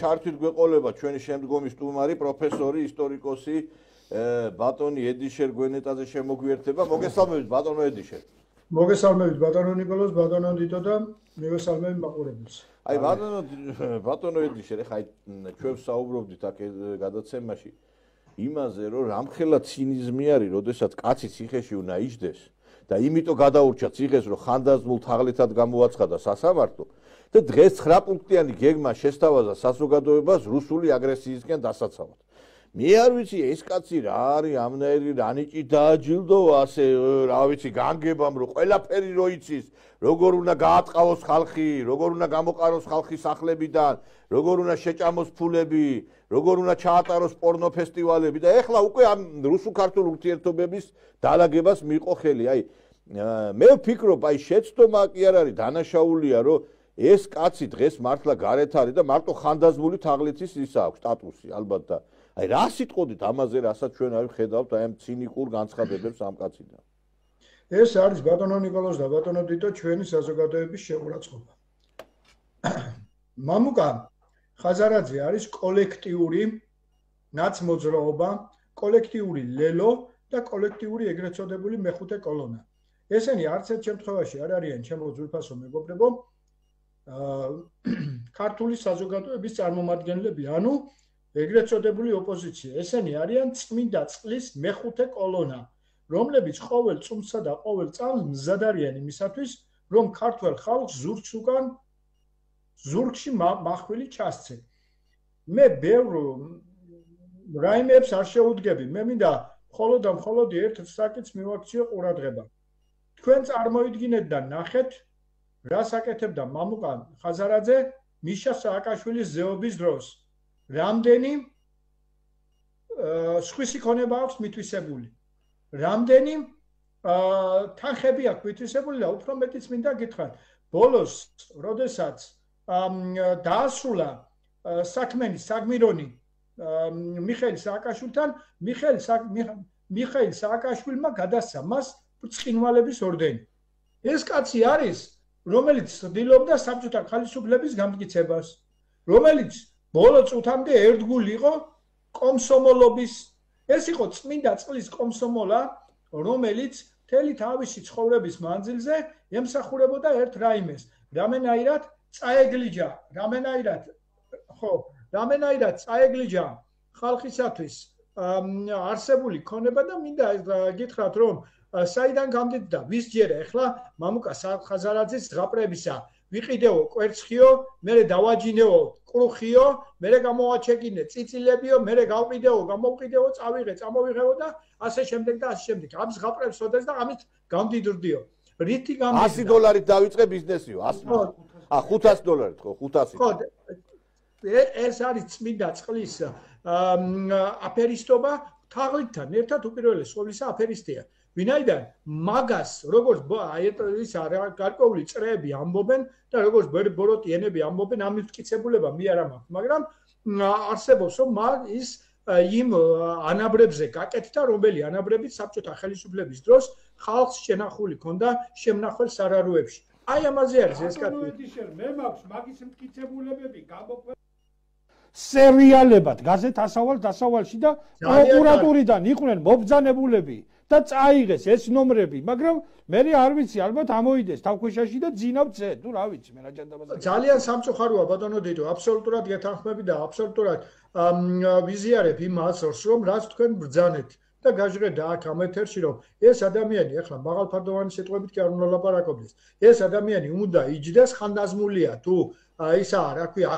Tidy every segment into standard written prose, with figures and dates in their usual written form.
ჩართვით გვეყოლება ჩვენი შემდგომი სტუმარი, პროფესორი, ისტორიკოსი, ბატონი ედიშერ გვენეტაძე შემოგვიერთება. მოგესალმებით ბატონო ედიშერ. მოგესალმებით ბატონო ნიკოლოზ, ბატონო დიტო და მოგესალმებით მაყურებელს. აი ბატონო ედიშერ, ეხლა ჩვენ საუბრობდით აქ გადაცემაში იმაზე, რომ რამხელა ცინიზმი არის, როდესაც კაცი ციხეში უნდა იჯდეს და იმიტომ გადაურჩა ციხეს, რომ ხანდაზმულ თაღლითად გამოაცხადა სასამართლო და დღეს 9 პუნქტიანი გეგმა შესთავაზა საზოგადოებას რუსული აგრესიისკენ დასაცავად. მე არ ვიცი ეს კაცი რა არის, ამნაირი რანიჭი დააჯილდოვა ასე, რა ვიცი, განგებამ, რომ ყველაფერი რო იცის, როგორ უნდა გაატყავოს ხალხი, როგორ უნდა გამოყაროს ხალხი სახლებიდან, როგორ უნდა შეჭამოს ფულები, როგორ უნდა ჩაატაროს პორნო ფესტივალები და ეხლა უკვე ამ რუსულ-ქართულ ურთიერთობების დაალაგებას მიიღო ხელი. აი მე ვფიქრობ, აი შეცდომა კი არ არის, დანაშაულია, რომ ეს კაცი დღეს მართლა გარეთ არის და მარტო ხანდაზმული თაღლითის ისა აქვს სტატუსი ალბათ და აი რა სიტყოდით ამაზე, რასაც ჩვენ არ ვხედავთ აი ამ ცინიკურ განცხადებებს ამ კაციდან. ეს არის ბატონო ნიკოლოზ და ბატონო დიტო ჩვენი საზოგადოების შეურაცხყოფა. მამუკა ხაზარაძე არის კოლექტიური ნაცმოძრაობა, კოლექტიური ლელო და კოლექტიური ეგრეთ წოდებული მეხუთე კოლონა. ესენი არც ერთ შემთხვევაში არ არიან ჩემო ძვირფასო მეგობრებო ქართული საზოგადოების წარმომადგენლები, ანუ ეგრეთ წოდებული ოპოზიცია. ესენი არიან წმინდა წყლის მეხუთე კოლონა, რომლებიც ყოველ წუთსა და ყოველ წამს მზად არიან იმისათვის, რომ ქართველ ხალხს ზურგს უკან ზურგში მახვილი ჩასცენ. მე ბევრ რაიმებს არ შეუდგები, მე მინდა მხოლოდ და მხოლოდ ერთ საკითხს მივაქციო ყურადღება. თქვენ წარმოიდგინეთ და ნახეთ, რას აკეთებდა მამუკა ხაზარაძე მიშა სააკაშვილის ზეობის დროს. რამდენი სხვისი ქონება აქვს მითვისებული, რამდენი თანხები აქვს მითვისებული და უფრო მეტიც მინდა გითხრათ, ბოლოს როდესაც დაასრულა საქმენი საგმირონი მიხეილ სააკაშვილთან, მიხეილ სააკაშვილმა გადასცა მას ბრწყინვალების ორდენი. ეს კაცი არის, რომელიც ცდილობდა საბჭოთა ხელისუფლების გამტკიცებას, რომელიც ბოლო წუთამდე ერთგული იყო კომსომოლობის. ეს იყო წმინდა წყლის კომსომოლა, რომელიც მთელი თავისი ცხოვრების მანძილზე ემსახურებოდა ერთ რაიმეს, რამენაირად წაეგლიჯა, რამენაირად წაეგლიჯა ხალხისათვის არსებული ქონება და მინდა გითხრათ, რომ საიდან გამდიდდა, ვის ჯერა ეხლა მამუკა ხაზარაძის ზღაპრებისა ვიყიდეო კვერცხიო, მერე დავაჯინეო კრუხიო, მერე გამოვაჩეკინე წიწილებიო, მერე გამოვყიდეო, წამოვიღეო და ასე შემდეგ და ასე შემდეგ. ამ ზღაპრებს ოდეს და ამით გამდიდრდიო. რითი გამდიდრდა? $100 დავიწყე ბიზნესიო, $500 ხო, 500. ხო, ეს არის წმინდა წყლის აფერისტობა თაღლითთან ერთად უპირველეს ყოვლისა აფერისტია. ვინაიდან მაგას როგორც ის გარკვეული წრეები ამბობენ და როგორც ბოროტიანები ამბობენ, ამ მტკიცებულება მე არ მაქვს, მაგრამ არსებობს რომ ის იმ ანაბრებზე გაკეთდა, რომელი ანაბრებით საბჭოთა ხელისუფლების დროს ხალხს შენახული ქონდა შემნახულ სარარუებში. აი ამაზე არის ეს კაცი. მე მაქვს მაგის მტკიცებულებები გამოქვეყნებული სერიალებად გაზეთ ასავალში და პროკურატურიდან იყვნენ მობრძანებულები და წაიღეს ეს ნომრები, მაგრამ მე არ ვიცი, ალბათ ამოიდეს თავქვეშაში და ძინავცე, თუ რა ვიცი, მე რა ჯანდაბაზე. ძალიან სამწუხაროა ბატონო დედო, აბსოლუტურად გეთანხმები და აბსოლუტურად ვიზიარებ იმ აზრს, რომ რაც თქვენ ბრძანეთ და გაჟღერდა აქ ამ ეთერში, რომ ეს ადამიანი ახლა მაღალფარდოვანი სიტყვებით კი არ უნდა ლაპარაკობდეს. ეს ადამიანი უნდა იჯდეს, ხანდაზმულია თუ ისა რა ქვია,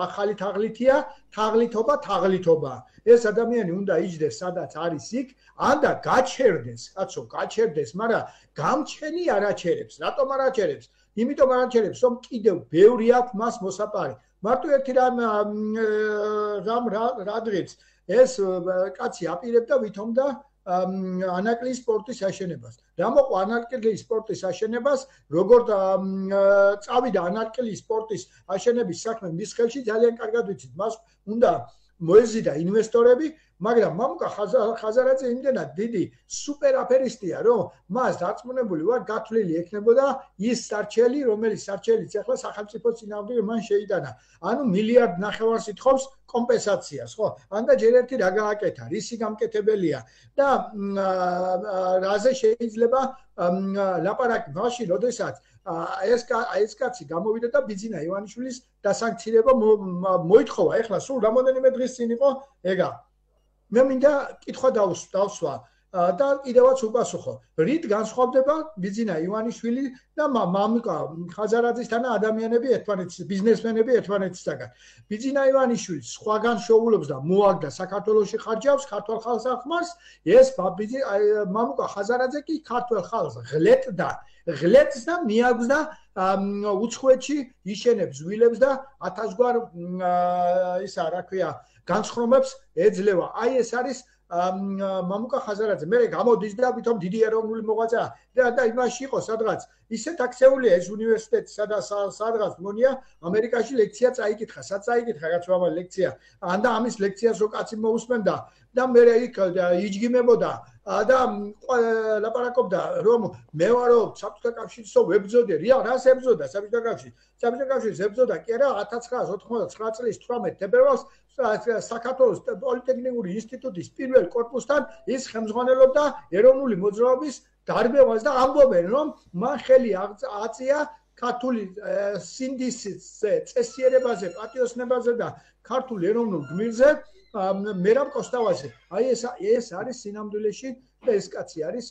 ახალი თაღლითია, თაღლითობა. ეს ადამიანი უნდა იჯდეს, სადაც არის იქ, ანდა გაჩერდეს, კაცო, გაჩერდეს, მაგრამ გამჩენი არ აჩერებს. რატომ არ აჩერებს? იმიტომ არ აჩერებს, რომ კიდევ ბევრი აქვს მას მოსაპარი. მარტო ერთი რა დღეს ეს კაცი აპირებდა ვითომდა ანაკლის სპორტის აშენებას. რა მოყვა ანაკლის სპორტის აშენებას, როგორ წავიდა ანაკლის სპორტის აშენების საქმე მის ხელში, ძალიან კარგად ვიცით. მას უნდა მოეზიდა ინვესტორები, მაგრამ მამუკა ხაზარაძე იმდენად დიდი სუპერ აფერისტია, რომ მას დარწმუნებული ვარ გათვლილი ექნებოდა ის სარჩელი, რომელიც სარჩელიც ახლა სახელმწიფო წინააღმდეგ მან შეიტანა. ანუ მილიარდ ნახევარს ითხოვს კომპენსაციას, ხო? ანდა ჯერ ერთი რა გააკეთა, რისი გამკეთებელია და რაზე შეიძლება ლაპარაკი მაშინ, როდესაც ეს კაცი გამოვიდა და ბიძინა ივანიშვილის დასანქცირება მოითხოვა. ეხლა სულ რამოდენიმე დღის წინ იყო ეგა. მე მინდა კითხვა დავსვა და კიდევაც უპასუხო. რით განსხვავდება ბიძინა ივანიშვილი და მამუკა ხაზარაძისთან ადამიანები ერთმანეთის ბიზნესმენები ერთმანეთისგან. ბიძინა ივანიშვილი სხვაგან შეუულობს და მოაგდა საქართველოში ხარჯავს ქართულ ხალხს ახმარს, ეს მამუკა ხაზარაძე კი ქართულ ხალხს ღლეტდა. ღლეტს და მიაგზდა უცხოეთში იშენებს ვილებს და 1000 გვარ ისა რა ქვია განსხრომებს ეძლევა. აი ეს არის მამუკა ხაზარაძე. მე გამოდის და ვითომ დიდი ეროვნული მოღვაწეა და იმაში იყო სადღაც ისეთ აქცეულია ეს უნივერსიტეტი სადღაც მონია ამერიკაში ლექცია წაიკითხა. სად წაიკითხა რაც ამ ლექცია. ანდა ამის ლექციას რო კაცი მოусმენდა და მე იქ იჯგიმებოდა და ლაპარაკობდა რომ მე ვარო საბჭოთა კავშირის ვებძოდე რას ებძოდა საბჭოთა კავშირი. საბჭოთა კავშირის ებძოდა კი არა 1999 წლის 18 თებერვალს საქართველოს პოლიტექნიკური ინსტიტუტის პირველ კორპუსთან ის ხელმძღვანელობდა ეროვნული მოძრაობის დარბევას და ამბობენ რომ მან ხელი აწია ქართული სინდისის წესიერებაზე, პატიოსნებაზე და ქართულ ეროვნულ გმირზე მერაბ კოსტავაძე. აი ეს არის სინამდვილეში და ეს კაცი არის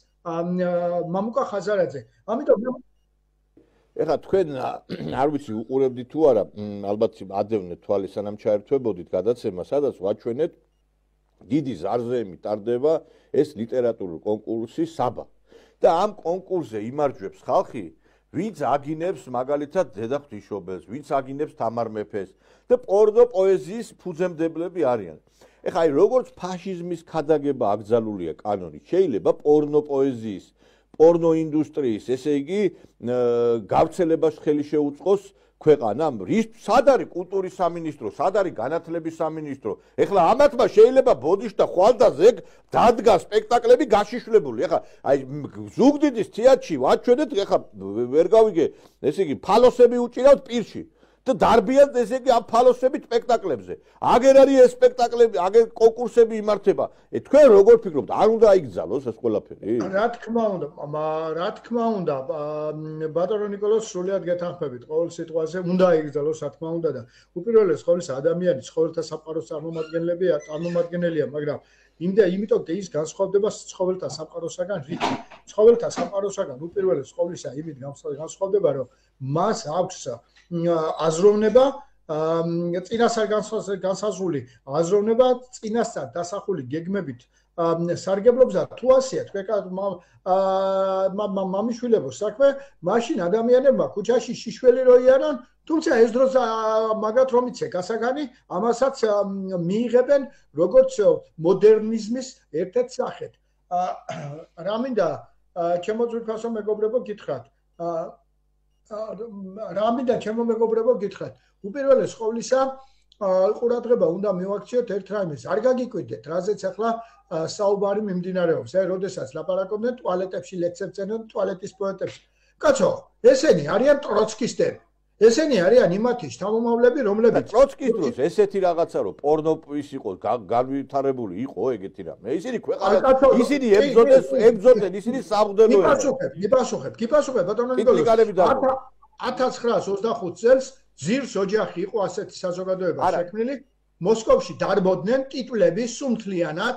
მამუკა ხაზარაძე. ამიტომ ეხლა თქვენ არ ვიცი უყურებდით თუ არა, ალბათ ადევნეთ თვალი სანამ ჩაერთვებოდით გადაცემა, სადაც ვაჩვენეთ დიდი ზარზეები ტარდება ეს ლიტერატურული კონკურსი საბა. და ამ კონკურსზე იმარჯვებს ხალხი, ვინც აგინებს მაგალითად დედა ღვთისმშობელს, ვინც აგინებს თამარ მეფეს და პორნო პოეზიის ფუძემდებლები არიან. ეხლა აი როგორც ფაშიზმის ქადაგება აკრძალულია კანონით, შეიძლება პორნო პოეზიის, პორნო ინდუსტრიის, ესე იგი გავრცელებას ხელი შეუწყოს ქვეყანამ. სად არის კულტურის სამინისტრო, სად არის განათლების სამინისტრო? ეხლა ამათმა შეიძლება ბოდიშთა ხვალდაზე დადგა სპექტაკლები გაშიშვლებული. ეხლა აი ზუგდიდის თეატრში ვაჩვენეთ, ეხლა ვერ გავიგე, ესე იგი ფალოსები უჭირავთ პირში. და დარბიან ესე იგი ამ ფალოსებით სპექტაკლებზე. აგერ არის ეს სპექტაკლები, აგერ კონკურსები იმართება. თქვენ როგორ ფიქრობთ, არ უნდა აიგზალოს ეს ყველაფერი? რა თქმა უნდა, ბატონო ნიკოლოზ სრულიად გეთანხმებით ყოველ სიტყვაზე, უნდა აიგზალოს, რა თქმა უნდა და უპირველეს ყოვლისა ადამიანი ცხოველთა სამყაროს წარმომადგენელია, მაგრამ იმიტომ ის განსხვავდება ცხოველთა სამყაროსაგან რით? ცხოველთა სამყაროსაგან უპირველეს ყოვლისა იმით განსხვავდება, რომ მას აქვს აზროვნება წინასწარ განსაზღვრული აზროვნება წინასწარ დასახული გეგმებით სარგებლობს და თუ ასეა თქვენ მამიშვილებო საქმე მაშინ ადამიანებმა ქუჩაში შიშველი რო იანონ თუმცა ეს დროს მაგათ რომ იცე გასაგანი ამასაც მიიღებენ როგორც მოდერნიზმის ერთ-ერთ სახედ რა მინდა ჩემო ძვირფასო მეგობრებო გითხრათ რა მინდა ჩემო მეგობრებო გითხრათ უპირველეს ყოვლისა ყურადღება უნდა მივაქციოთ ერთ რაიმეს არ გაგიკვირდეთ რაზეც ახლა საუბარი მიმდინარეობს აი როდესაც ლაპარაკობდნენ ტუალეტებში ლექციებს წერდნენ ტუალეტის პოეტებში კაცო ესენი არიან ტროცკისტები ესენი არიან იმათი შთამომავლები რომლებიც ტროცკის დროს ესეთი რაღაცა რომ პორნოპის იყო განვითარებული იყო ეგეთი რამე ისინი ქვეყანა ისინი ებძოდნენ ისინი სამღვდელოებია გიპასუხებ ბატონო ნიკოლოზ 1925 წელს ძირს ოჯახი იყო ასეთი საზოგადოება შექმნილი მოსკოვში დარბოდნენ ტიტულები სულთლიანად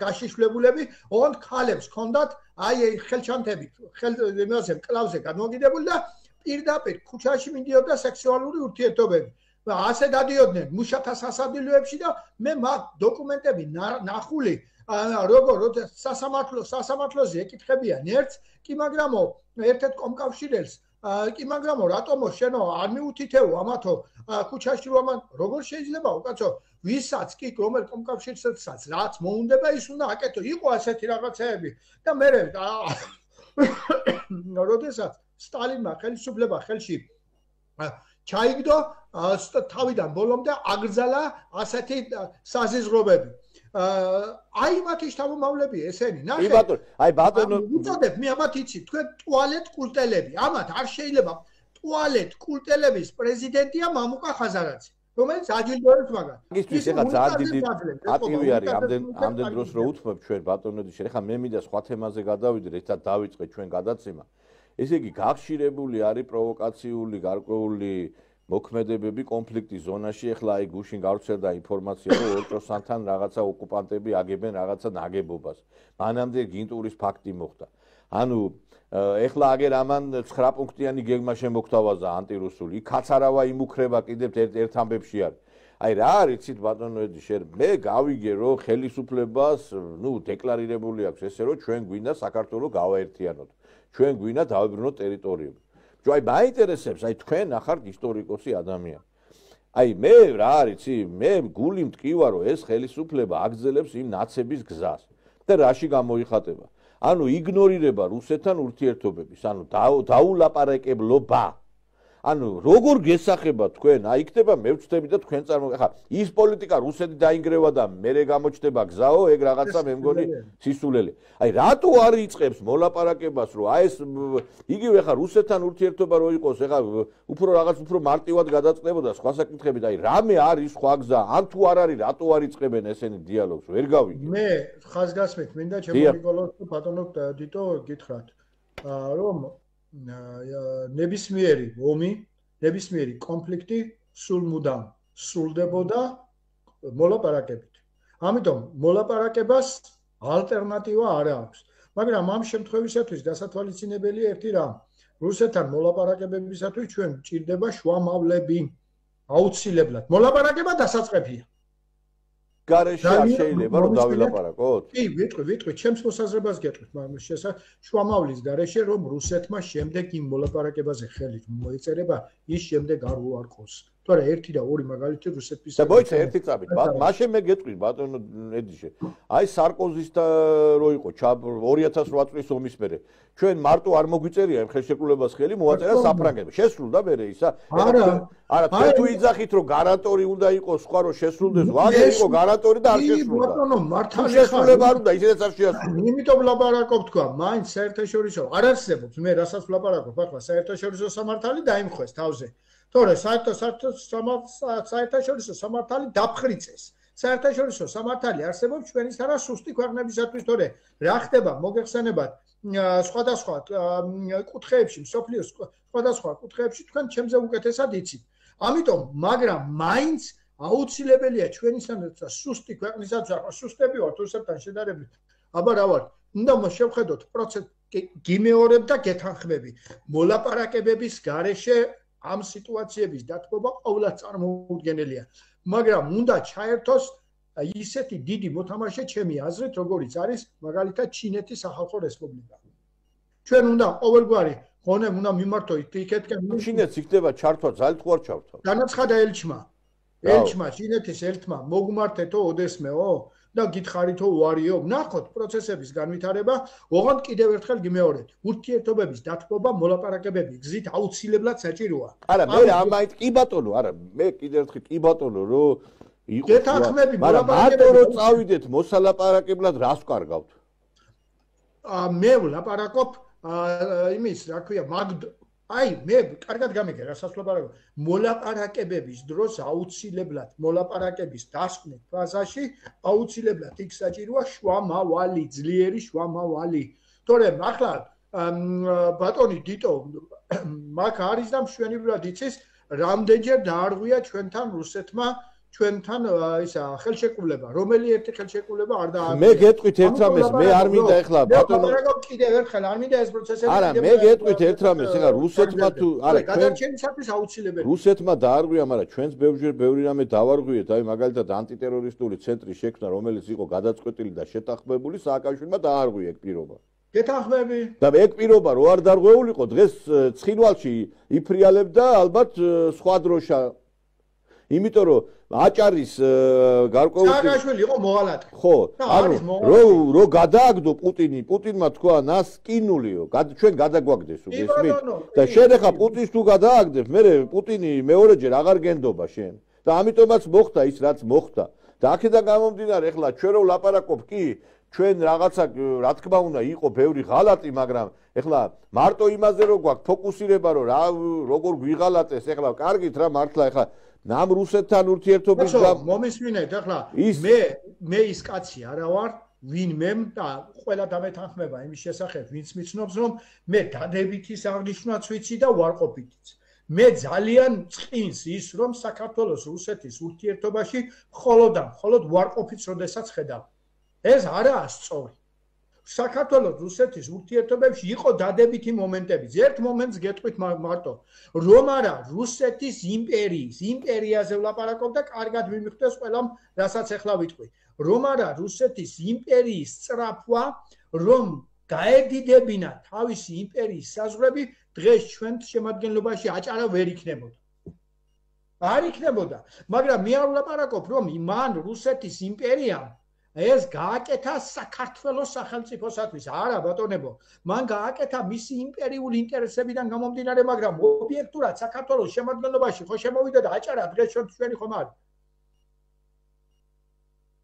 გაშიშვლებულები ოღონდ ქალებს ჰქონდათ აი ხელჩანთები იმაზე მკლავზე განმოგიდებული და პირდაპირ ქუჩაში მინდიოდა სექსუალური ურთიერთობები და ასე დადიოდნენ მუშათა სასადილოებში და მე მაგ დოკუმენტები ნახული როგორ სასამართლოზე ეკითხებიან ერთს კი მაგრამო ერთ-ერთ კომკავშირელს კი მაგრამო რატომო შენო არ მიუთითეო ამათო ქუჩაში რომ როგორ შეიძლება უკაცო ვისაც კი რომელ კომკავშირსაც რაც მოუნდება ის უნდა აკეთო იყო ასეთი რაღაცეები და მე როდესაც სტალინმა ხელისუფლება ხელში ჩაიგდო თავიდან ბოლომდე აგრძალა ასეთი საზიზღრობები. აი მათი შთამომავლებია ესენი. ნახე. აი ბატონო, უწოდებ მე ამათ იცი, თქვენ ტუალეტ კულტელები. ამათ არ შეიძლება ტუალეტ კულტელების პრეზიდენტია მამუკა ხაზარაძე. რომელიც აჯილდოებს მაგას. ის ეხა ძალიან დიდი ატივი არის ამდენ დროს რო უთმობ ჩვენ ბატონოდი შე. ეხა მე მინდა სხვა თემაზე გადავიდე, ერთად დავიწყე ჩვენ გადაცემა. ესე იგი გახშირებული არის პროვოკაციული, გარკვეული მოქმედებები კონფლიქტის ზონაში. ეხლა აი გუშინ გავრცელდა ინფორმაცია, რომ ელტროსანთან რაღაცა ოკუპანტები აგებენ რაღაცა ნაგებობას. მანამდე გინტურის ფაქტი მოხდა. ანუ ეხლა აგერ ამან 9 პუნქტიანი გეგმა შემოგთავაზა ანტირუსული. იქ კაცარავა იმუქრება კიდევ ერთ ამბებში არის. აი რა არის იცით ბატონო ედიშე, მე გავიგე რომ ხელისუფლებას, დეკლარირებული აქვს ესე რომ ჩვენ გვინდა საქართველოს გავაერთიანოთ. ჩვენ გვინდა დავებრუნოთ ტერიტორიები. აი მაინტერესებს, აი თქვენ ახართ ისტორიკოსი ადამიანი. აი მე რა არის იცი, მე გული მტკივა რომ ეს ხელისუფლება აგრძელებს იმ ნაცების გზას და რაში გამოიხატება. ანუ იგნორირება რუსეთთან ურთიერთობების, ანუ დაულაპარაკებლობა. ანუ როგორ გესახება თქვენ? აი იქნება მე ვწდები და თქვენ ხა ის პოლიტიკა რუსეთი დაინგრევა და მე გამოჩნდება გზაო, ეგ რაღაცა მე მგონი სისულელი. აი რატო არ იწყებს მოლაპარაკებას, რომ აი ეს იგივე ხა რუსეთთან ურთიერთობა რო იყოს, ეხა უფრო რაღაც უფრო მარტივად გადაწყდებოდა სხვა საკითხებით, აი რამე არის სხვა გზა, ან თუ არ არის, რატო არ იწყებენ ესენი დიალოგს? ვერ გავიგე. მე ხაზგასმით მინდა ჩემო ბატონო დიტო გითხრათ, რომ ნებისმიერი ომი, ნებისმიერი კონფლიქტი სულ მუდამ სრულდებოდა მოლაპარაკებით. ამიტომ მოლაპარაკებას ალტერნატივა არ აქვს. მაგრამ ამ შემთხვევისათვის დასათვალისწინებელია ერთი რამ. რუსეთთან მოლაპარაკებებისათვის ჩვენ გვჭირდება შუამავლები. აუცილებლად. მოლაპარაკება დასაწყებია. გარეშე არ შეიძლება რომ დავილაპარაკოთ? კი, ვიტყვი, ჩემს მოსაზრებას გეტყვით, მაგრამ შუამავლის გარეშე რომ რუსეთმა შემდეგ იმ მოლაპარაკებაზე ხელი მოეწერება, ის შემდეგ არ უარყოს. თორე 1 და 2 მაგალითი რუსეთის და მოიცა ერთი წამით. მაშინ მე გეტყვით ბატონო ედიშე. აი სარკოზის და რო იყო 2008 წლის ომის მერე. ჩვენ მარტო არ მოგვიწერია იმ ხელშეკრულებას ხელი მოაწერა საფრანგეთმა. შესრულდა მერე ისა? არა, თქვენ თუ იძახით რომ გარანტორი უნდა იყოს სხვა რომ შესრულდეს, ვაგე იყო გარანტორი და არ შესრულდა. ბატონო მართალი შესრულება არ უნდა, ისედაც არ შეასრულა. იმიტომ ვლაპარაკობ თქვა, მაინც საერთაშორისო არ არსებობს. მე რასაც ვლაპარაკობ, ახლა საერთაშორისო სამართალი დაიმხვეს თავზე. თორე საერთაშორისო სამართალი დაფხრიწეს. საერთაშორისო სამართალი არსებობს ჩვენი არა სუსტი ქვეყნებისათვის, თორე რა ხდება მოგეხსენებათ სხვადასხვა კუთხეებში, მსოფლიოს სხვადასხვა კუთხეებში თქვენ ჩემზე უკეთესად იცით. ამიტომ, მაგრამ მაინც აუცილებელია ჩვენისთანაც სუსტი ქვეყნისათვის, ახლა სუსტები ვართ რუსეთთან შედარებით. აბა რა ვარ? უნდა შევხედოთ პროცესს გიმეორებ და გეთანხმები. მოლაპარაკებების გარეშე ამ სიტუაციების დათმობა ყოველად წარმოუდგენელია. მაგრამ უნდა ჩაერთოს ისეთი დიდი მოთამაშე ჩემი აზრით, როგორიც არის მაგალითად ჩინეთის სახალხო რესპუბლიკა. ჩვენ უნდა ყოველგვარი ღონემ უნდა მიმართოთ იქეთკენ. ჩინეთს იქნება ჩართვა ძალით თუ არ ჩართვა? განაცხადა ელჩმა, ჩინეთის ელჩმა მოგმართეთო ოდესმეო და გითხარითო უარიო. ნახოთ პროცესების განვითარება, ოღონდ კიდევ ერთხელ გიმეორებ. ურთიერთობების დათმობა, მოლაპარაკებები გზით აუცილებლად საჭიროა. არა, მე ამაით კი ბატონო, არა, მე კიდევ ერთხელ კი ბატონო, რომ იყო გეთანხმები მოლაპარაკებები. მაგრამ რომ წავიდეთ მოსალაპარაკებლად, რას ვკარგავთ? მე ვლაპარაკობ იმის, რა ქვია, აი, მე კარგად გამიგე, რასაც ვლაპარაკობ. მოლაპარაკებების დროს აუცილებლად მოლაპარაკების დასკვნის ფაზაში აუცილებლად იქ საჭიროა შუამავალი, ძლიერი შუამავალი. თორემ ახლა ბატონი დიტო მაგ არის და მშვენივრად იცის, რამდენჯერ დაარღვია ჩვენთან რუსეთმა ჩვენთან ისა ხელშეკრულება, რომელი ერთი ხელშეკრულება არ დაარღვია. მე გეტყვით ერთ რამეს, მე არ მინდა ეხლა ბატონო. კიდევ ერთხელ არ მინდა ეს პროცესები. არა, მე გეტყვით ერთ რამეს, ეხლა რუსეთმა თუ არა, გადარჩენისათვის აუცილებელია. რუსეთმა დაარღვია, მაგრამ ჩვენც ბევრი რამე დავარღვიეთ, აი მაგალითად ანტიტერორისტული ცენტრი შექმნა, რომელიც იყო გადაწყვეტილი და შეთანხმებული, სააკაშვილმა დაარღვია ეგ პირობა. გეთანხმები. და ეგ პირობა რო არ დარღვეულიყო, დღეს ცხინვალში იფრიალებდა ალბათ სხვა დროშა. იმიტომ რომ აჭარის გარკვეული სააკაშვილი იყო მოღალატე. ხო, ანუ რო გადააგდო პუტინმა თქვა ნასკინულიო, ჩვენ გადაგვაგდეს უგესმით და შენ ახლა პუტინს თუ გადააგდებ, მე პუტინი მეორეჯერ აღარ გენდობა შენ. და ამიტომაც მოხდა ის რაც მოხდა. და აქედან გამომდინარე, ახლა ჩვენ რო ვლაპარაკობ კი ჩვენ რაღაცა რა თქმა უნდა იყო ბევრი ღალატი, მაგრამ ეხლა მარტო იმაზე რო გვაქვს ფოკუსირება რომ როგორ გვიღალატეს, ეხლა კარგით რა მართლა ეხლა ნამ რუსეთთან ურთიერთობის მომისმინეთ ეხლა მე ის კაცი არა ვარ ვინმე და ყველა დამეთანხმება იმის შესახებ ვინც მიცნობს რომ მე დადებითის აღნიშვნაც ვიცი და უარყოფითიც მე ძალიან წინს ის რომ საქართველოს რუსეთის ურთიერთობაში მხოლოდ უარყოფითს როდესაც ხედავ ეს არაა სწორი. საქართველოს რუსეთის ურთიერთობებში იყო დადებითი მომენტები. ერთ მომენტს გეტყვით მარტო, რომ არა რუსეთის იმპერიაზე ვლაპარაკობ და კარგად მიმიხდეს ყველამ, რასაც ახლა ვიტყვი. რომ არა რუსეთის იმპერიის სწრაფვა, რომ გაედიდებინა თავისი იმპერიის საზღვრები, დღეს ჩვენ შემადგენლობაში აჭარა ვერ იქნებოდა. არ იქნებოდა, მაგრამ მე არ ვლაპარაკობ, რომ მან რუსეთის იმპერიამ ეს გააკეთა საქართველოს სახელმწიფოსათვის. არა ბატონებო, მან გააკეთა მისი იმპერიული ინტერესებიდან გამომდინარე, მაგრამ ობიექტურად საქართველოს შემადგენლობაში ხო შემოვიდა და აჭარა დღეს ჩვენი ხომ არის.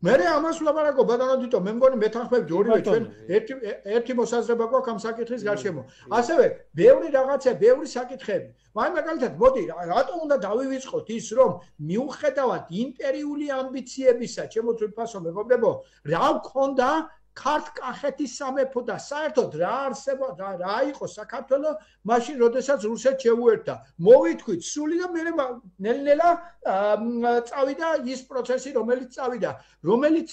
მე ამას ვლაპარაკობ ბატონო თითო, მე მგონი მეთანხმებით ორივე ჩვენ ერთი მოსაზრება გვაქვს ამ საკითხის გარშემო. ასევე ბევრი რაღაცა, ბევრი საკითხები. მაგალითად, მოდი, რატომ უნდა დავივიწყოთ ის, რომ მიუხედავად იმპერიული ამბიციებისა, ჩემო თვითფასო მეგობრებო, რა გქონდა ქართლ-კახეთის სამეფო და საერთოდ რა იყო საქართველო მაშინ, როდესაც რუსეთს შეუერთდა. მოვითქვით სული და მე ნელ-ნელა წავიდა ის პროცესი, რომელიც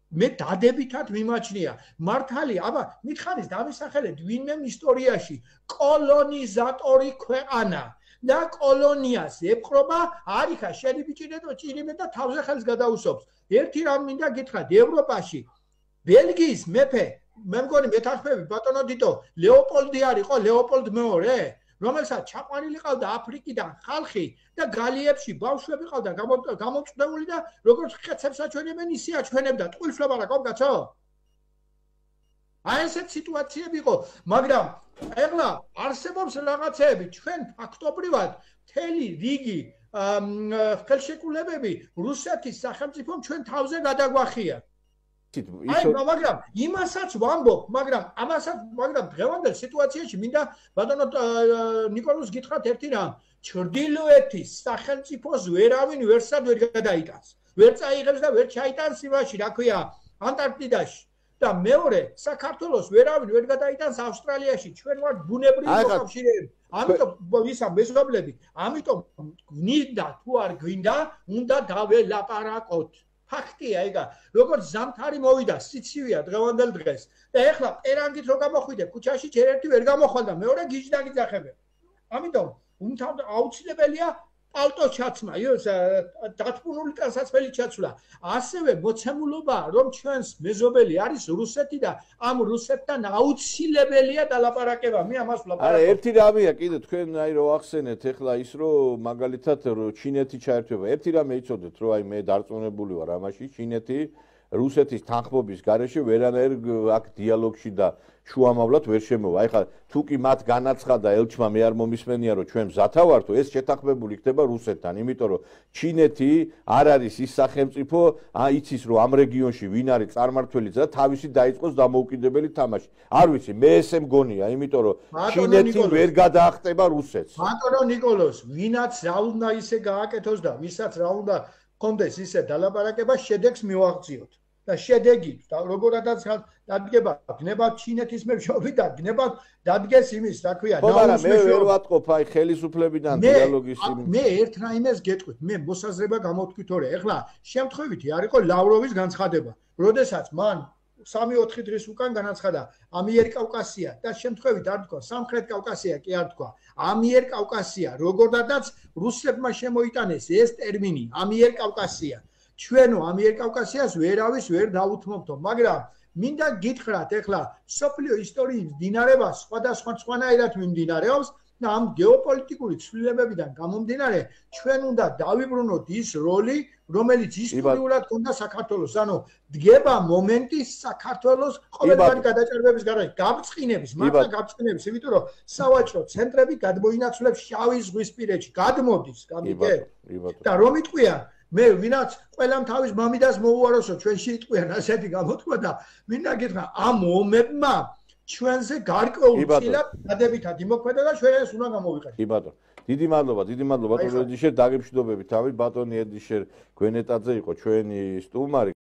მე დადებითად მიმაჩნია. მართალი, აბა, მითხარის დავისახელეთ ვინმე ისტორიაში კოლონიზატორი ქვეყანა და კოლონიას ეპყრობა, არიხა შენი ბიჭირე და თავზე ხელს გადაუსობს. ერთი რამ მინდა გითხრათ, ევროპაში ბელგიის მეფე, მე მგონი მეთანხმები ბატონო თითო, ლეოპოლდი არისო, ლეოპოლდ მეორე, რომელსაც ჩაყვანილი ყავდა აფრიკიდან ხალხი და გალიებში ბავშვები ყავდა გამომწვეული და როგორც ხეცებს აჩვენებენ, ისე აჩვენებდა. ტყუილს ვლაპარაკობ, კაცო? აი ესეთ სიტუაციები იყო, მაგრამ ეხლა არსებობს რაღაცეები, ჩვენ ფაქტობრივად მთელი რიგი ხელშეკრულებები რუსეთის სახელმწიფომ ჩვენ თავზე გადაგვახია. მაგრამ იმასაც ვამბობ, მაგრამ დღევანდელ სიტუაციაში მინდა ბატონო ნიკოლოზ გითხრათ ერთი რამ. ჩრდილოეთის სახელმწიფოს ვერავინ ვერსად ვერ გადაიტანს. ვერ წაიღებს და ვერ ჩაიტანს იმაში, რა ქვია, ანტარქტიდაში. და მეორე, საქართველოს ვერავინ ვერ გადაიტანს ავსტრალიაში. ჩვენ ვართ ბუნებრივი მოკავშირეები. ამიტომ ისა მეზობლები, ამიტომ გვინდა თუ არ გვინდა, უნდა დაველაპარაკოთ. ფაქტია ეგა, როგორც ზამთარი მოვიდა, სიცივეა დღევანდელ დღეს. და ეხლა პერანგით რო გამოხვიდე, ქუჩაში ჯერ ერთი ვერ გამოხვალ და მეორე გიჟდა გიძახებენ. ამიტომ აუცილებელია პალტო ჩაცმა, დათმუნული ტანსაცმელი ჩაცვლა. ასევე მოცემულობა, რომ ჩვენს მეზობელი არის რუსეთი და ამ რუსეთთან აუცილებელია დალაპარაკება. მე ამას ვლაპარაკობ. არა, ერთი რამეა კიდე თქვენ აი რო ახსენეთ ახლა ის რომ მაგალითად ჩინეთი ჩაერთვება. ერთი რამე იცოდეთ რომ აი მე დარწმუნებული ვარ ამაში, ჩინეთი რუსეთის თანხმობის გარეშე ვერანაირ აქ დიალოგში და შუამავლად ვერ შემოვა. აი ხა თუ კი მათ განაცხადა ელჩმა მე არ მომისმენია რომ ჩვენ მზათა ვართო, ეს შეთანხმებული ხდება რუსეთთან, იმიტომ რომ ჩინეთი არ არის ის სახელმწიფო, იცის რომ ამ რეგიონში ვინ არის წარმართველიც და თავისი დაიწყოს დამოუკიდებელი თამაში. არ ვიცი, მე ესე მგონია, იმიტომ რომ ჩინეთი ვერ გადაახტება რუსეთს. ბატონო ნიკოლოზ, ვინაც რა უნდა ისე გააკეთოს და ვისაც რა უნდა კონდეს ისე დალაპარაკება, შედეგს მივაღწიოთ. და შედეგი როგორადაც დადგება, გნებავთ ჩინეთის მეშვეობით და გნებავთ დადგეს იმის, რა ქვია, ნაუს მეშვეობით. მე ვერ ვატყობ აი ხელისუფლებიდან დიალოგის იმ. მე ერთ რაიმეს გეტყვით, მე მოსაზრება გამოთქვით ორე. ეხლა შემთხვევითი არ იყო ლავროვის განცხადება, როდესაც მან 3-4 დღის უკან განაცხადა ამიერკავკასია და შემთხვევით არ თქვა სამხრეთ კავკასია კი არ თქვა ამიერკავკასია, როგორდაც რუსებმა შემოიტანეს ეს ტერმინი ამიერკავკასია. ჩვენო ამიერკავკასიას ვერავის ვერ დაუთმობთო, მაგრამ მინდა გითხრათ, ეხლა სოფლიო ისტორიის დინარება სხვადასხვანაირად მიმდინარეობს და ამ გეოპოლიტიკური ცვლილებებიდან გამომდინარე ჩვენ უნდა დავიბრუნოთ ის როლი, რომელიც ისტორიულად ჰქონდა საქართველოს. ანუ დგება მომენტი საქართველოს ყოველგვარი გადაჭარბების გარშემო, გაბრწყინების, მართლა გაბრწყინების, იმიტომ რომ სავაჭრო ცენტრები გადმოინაცვლებს შავი ზღვისპირეთში, გადმოდის, გამიგე? და რომ იტყვიან მე ვინაც ყველამ თავის მამიდას მოუაროსო ჩვენში იტყვიან ასეთი გამოთქვა და მინდა გითხრა ამ ომებმა ჩვენზე გარკვეულ წილად დადებითად იმოქმედა და ჩვენ ეს უნდა გამოვიყენოთ. კი ბატონო. დიდი მადლობა ბატონო ედიშერ, დაგემშვიდობებით თავი ბატონი ედიშერ გვენეტაძე იყო ჩვენი სტუმარი.